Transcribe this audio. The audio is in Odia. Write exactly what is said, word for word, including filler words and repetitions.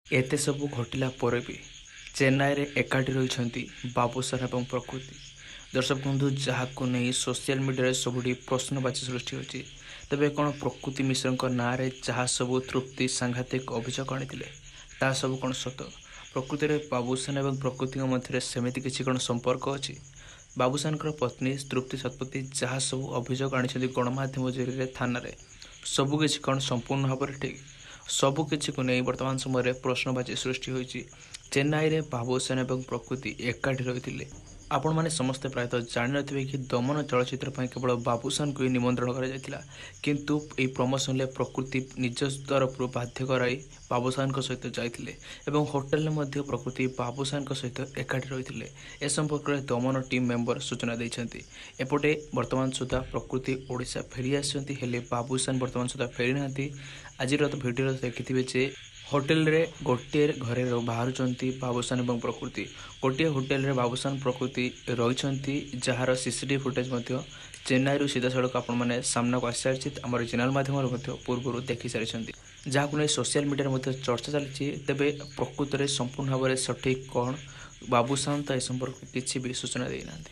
ଏତେ ସବୁ ଘଟିଲା ପରେ ବି ଚେନ୍ନାଇରେ ଏକାଠି ରହିଛନ୍ତି ବାବୁସାନ ଏବଂ ପ୍ରକୃତି। ଦର୍ଶକ ବନ୍ଧୁ, ଯାହାକୁ ନେଇ ସୋସିଆଲ ମିଡ଼ିଆରେ ସବୁଠି ପ୍ରଶ୍ନବାଚୀ ସୃଷ୍ଟି ହୋଇଛି। ତେବେ କ'ଣ ପ୍ରକୃତି ମିଶ୍ରଙ୍କ ନାଁରେ ଯାହା ସବୁ ତୃପ୍ତି ସାଂଘାତିକ ଅଭିଯୋଗ ଆଣିଥିଲେ, ତାହା ସବୁ କ'ଣ ସତ? ପ୍ରକୃତିରେ ବାବୁସାନ ଏବଂ ପ୍ରକୃତିଙ୍କ ମଧ୍ୟରେ ସେମିତି କିଛି କ'ଣ ସମ୍ପର୍କ ଅଛି? ବାବୁସାନଙ୍କର ପତ୍ନୀ ତୃପ୍ତି ଶତପଥୀ ଯାହା ସବୁ ଅଭିଯୋଗ ଆଣିଛନ୍ତି ଗଣମାଧ୍ୟମ ଜରିଆରେ ଥାନାରେ, ସବୁକିଛି କ'ଣ ସମ୍ପୂର୍ଣ୍ଣ ଭାବରେ ଠିକ୍? ସବୁକିଛିକୁ ନେଇ ବର୍ତ୍ତମାନ ସମୟରେ ପ୍ରଶ୍ନବାଚୀ ସୃଷ୍ଟି ହୋଇଛି। ଚେନ୍ନାଇରେ ବାବୁସାନ ଏବଂ ପ୍ରକୃତି ଏକାଠି ରହିଥିଲେ। ଆପଣମାନେ ସମସ୍ତେ ପ୍ରାୟତଃ ଜାଣିନଥିବେ କି ଦମନ ଚଳଚ୍ଚିତ୍ର ପାଇଁ କେବଳ ବାବୁସାନକୁ ହିଁ ନିମନ୍ତ୍ରଣ କରାଯାଇଥିଲା, କିନ୍ତୁ ଏହି ପ୍ରମୋସନରେ ପ୍ରକୃତି ନିଜ ତରଫରୁ ବାଧ୍ୟ କରାଇ ବାବୁସାନଙ୍କ ସହିତ ଯାଇଥିଲେ ଏବଂ ହୋଟେଲରେ ମଧ୍ୟ ପ୍ରକୃତି ବାବୁସାନଙ୍କ ସହିତ ଏକାଠି ରହିଥିଲେ। ଏ ସମ୍ପର୍କରେ ଦମନ ଟିମ୍ ମେମ୍ବର ସୂଚନା ଦେଇଛନ୍ତି। ଏପଟେ ବର୍ତ୍ତମାନ ସୁଦ୍ଧା ପ୍ରକୃତି ଓଡ଼ିଶା ଫେରି ଆସିଛନ୍ତି, ହେଲେ ବାବୁସାନ ବର୍ତ୍ତମାନ ସୁଦ୍ଧା ଫେରିନାହାନ୍ତି। ଆଜିର ତ ଭିଡ଼ିଓରେ ଦେଖିଥିବେ ଯେ ହୋଟେଲରେ ଗୋଟିଏ ଘରେ ବାହାରୁଛନ୍ତି ବାବୁସାନ ଏବଂ ପ୍ରକୃତି। ଗୋଟିଏ ହୋଟେଲରେ ବାବୁସାନ ପ୍ରକୃତି ରହିଛନ୍ତି, ଯାହାର ସିସିଟିଭି ଫୁଟେଜ୍ ମଧ୍ୟ ଚେନ୍ନାଇରୁ ସିଧାସଳଖ ଆପଣମାନେ ସାମ୍ନାକୁ ଆସିସାରିଛି। ଆମର ଚ୍ୟାନେଲ ମାଧ୍ୟମରେ ମଧ୍ୟ ପୂର୍ବରୁ ଦେଖିସାରିଛନ୍ତି, ଯାହାକୁ ନେଇ ସୋସିଆଲ ମିଡ଼ିଆରେ ମଧ୍ୟ ଚର୍ଚ୍ଚା ଚାଲିଛି। ତେବେ ପ୍ରକୃତରେ ସମ୍ପୂର୍ଣ୍ଣ ଭାବରେ ସଠିକ୍ କ'ଣ? ବାବୁସାନ ତ ଏ ସମ୍ପର୍କରେ କିଛି ବି ସୂଚନା ଦେଇନାହାନ୍ତି।